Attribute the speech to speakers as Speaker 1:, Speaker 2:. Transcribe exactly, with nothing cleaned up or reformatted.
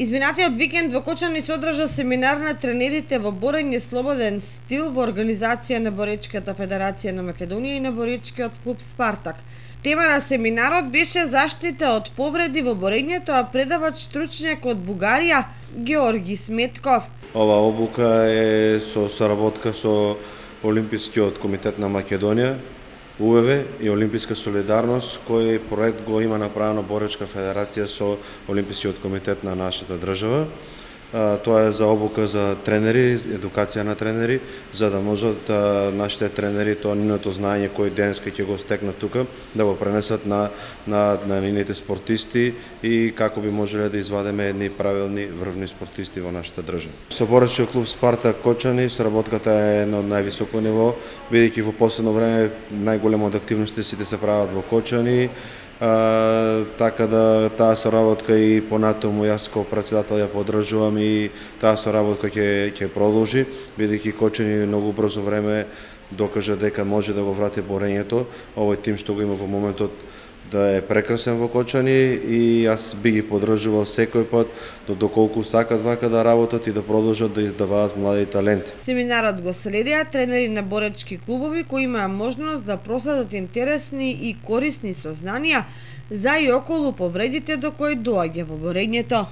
Speaker 1: Изминатиот викенд во Кочани се одржа семинар на тренерите во борење слободен стил во организација на Боречката федерација на Македонија и на Боречкиот клуб Спартак. Тема на семинарот беше заштита од повреди во борењето, а предавач стручњак од Бугарија Георги Сметков.
Speaker 2: Ова обука е со соработка со Олимпискиот комитет на Македонија, У В В и Олимписка солидарност, кој проект го има направено Боречка федерација со Олимпискиот комитет на нашата држава. Тоа е за обука за тренери, едукација на тренери, за да можат нашите тренери тоа нивното знаење кој денеска ќе го стекнат тука да го пренесат на на на нивните спортисти и како би можеле да извадиме едни правилни врвни спортисти во нашата држава. Со Боречкиот клуб Спартак Кочани соработката е на највисоко ниво, бидејќи во последно време најголема од активности сите се прават во Кочани. А, така да таа соработка и понатаму јас како претседател ја поддржувам и таа соработка ќе ќе продолжи, бидејќи Кочани многу брзо време докажа дека може да го врати борењето. Овој тим што го има во моментот да е прекрасен во Кочани и јас би ги поддржувал секој пат до доколку сакат вака да работат и да продолжат да издаваат млади таленти.
Speaker 1: Семинарот го следеа тренери на боречки клубови кои имаа можност да проследат интересни и корисни сознанија за и околу повредите до кои доаѓа во борењето.